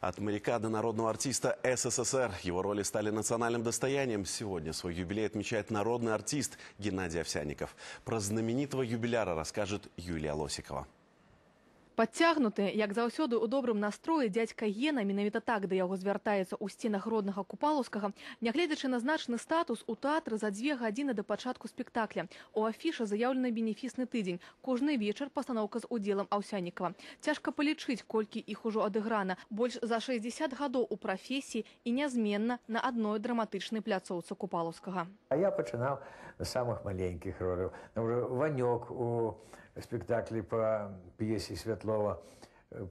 От моряка до народного артиста СССР. Его роли стали национальным достоянием. Сегодня свой юбилей отмечает народный артист Геннадий Овсянников. Про знаменитого юбиляра расскажет Юлия Лосикова. Подцягнуты, як заўсёды у добрым настроі, дзядзька Гена, менавіта так да яго звяртаецца ў сценах роднага Купалаўскага, нягледзячы на значны статус, у тэатры за 2 гадзіны да пачатку спектакля. У афішы заяўлены бенефісны тыдзень. Кожны вечар пастаноўка з удзелам Овсянникова. Цяжка палічыць, колькі іх ужо адыграна. Больш за 60 гадоў у прафесіі і нязменна на адной драматычнай пляцоўцы Купалаўскага. А я пачынаў з самых маленькіх роляў. Ванёк у спектаклі по п'есе Святлова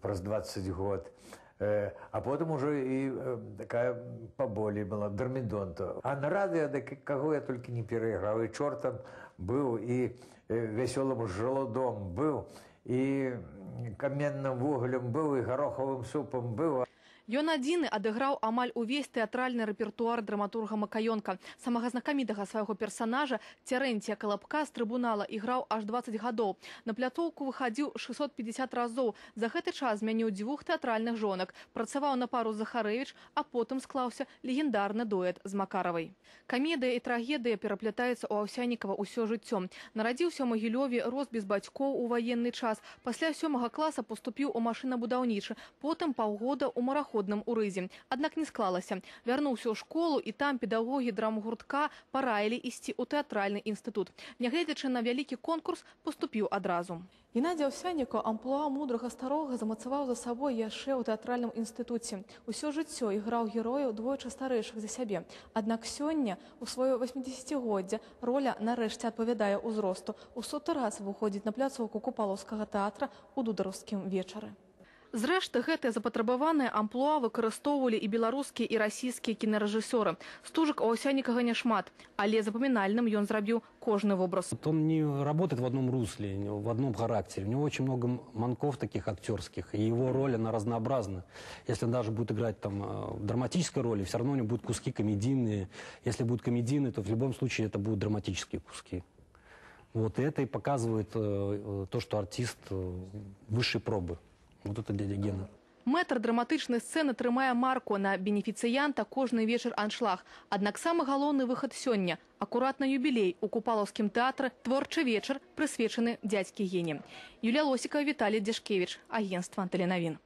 праз 20 год. А потым уже і такая паболей была, Дормидонта. А на радыё, каго я толькі не перайграў. І чортам быў, і вясёлым жалудом быў, і каменным вугалем быў, і гарохавым супам быў. Ён адзіны адыграў амаль увесь тэатральны рэпертуар драматурга Макаёнка. Самага знакамітага свайго персанажа Церэнція Калапка з трыбунала іграў аж 20 гадоў. На пляцоўку выхадзіў 650 разоў. За гэты час змяніў 2 тэатральных жонак. Працаваў на пару з Захарэвіч, а потым склаўся легендарны дуэт з Макаравай. Камедыя і трагедыя пераплятаюцца ў Овсяннікава ўсё жыццё. Нарадзіўся ў Магілёве, рос без бацькоў у ваенны час. Пасля 7 класа паступіў у машынабудаўнічы, потым паўгода ў мараходным у Рызе. Аднак не склалася. Вярнуўся ў школу, і там педагогі драмгуртка параілі ісці ў тэатральны інстытут. Нягледзячы на вялікі конкурс, паступіў адразу. Геннадий Овсянников амплуа мудрага старога замацаваў за сабой яшчэ ў тэатральным інстытуце. Усё жыццё іграў герояў двойчы старэйшых за сябе. Аднак сёння, у сваё 80-годдзе, роля нарэшце адпавядае ўзросту. У 100-й раз выходзіць на пляцоўку Купалаўскага тэатра ў дудараўскім вечары. Зрэшты, гэтыя запатрабаваныя амплуа выкарыстоўвалі і беларускія, і расійскія кінарэжысёры. Стужак у Овсянникова няшмат, але запамінальным ён зрабіў кожны вобраз. Он не работает в одном русле, в одном характере. У него очень много манков таких актерских, и его роль, она разнообразна. Если он даже будет играть там в драматической роли, все равно у него будут куски комедийные. Если будут комедийные, то в любом случае это будут драматические куски. Вот, и это и показывает то, что артист высшей пробы. Вот это дядя Гена. Мэтр драматычнай сцэны трымае марку на бенефіцыянта кожны вечар аншлаг. Аднак самы галоўны выхад сёння – акуратна юбілей у Купалаўскім тэатры «Творчы вечар», прысвечаны дзядзькі Гене. Юлія Лосікова, Віталій Дзяшкевіч, агенцтва «Тэленавін».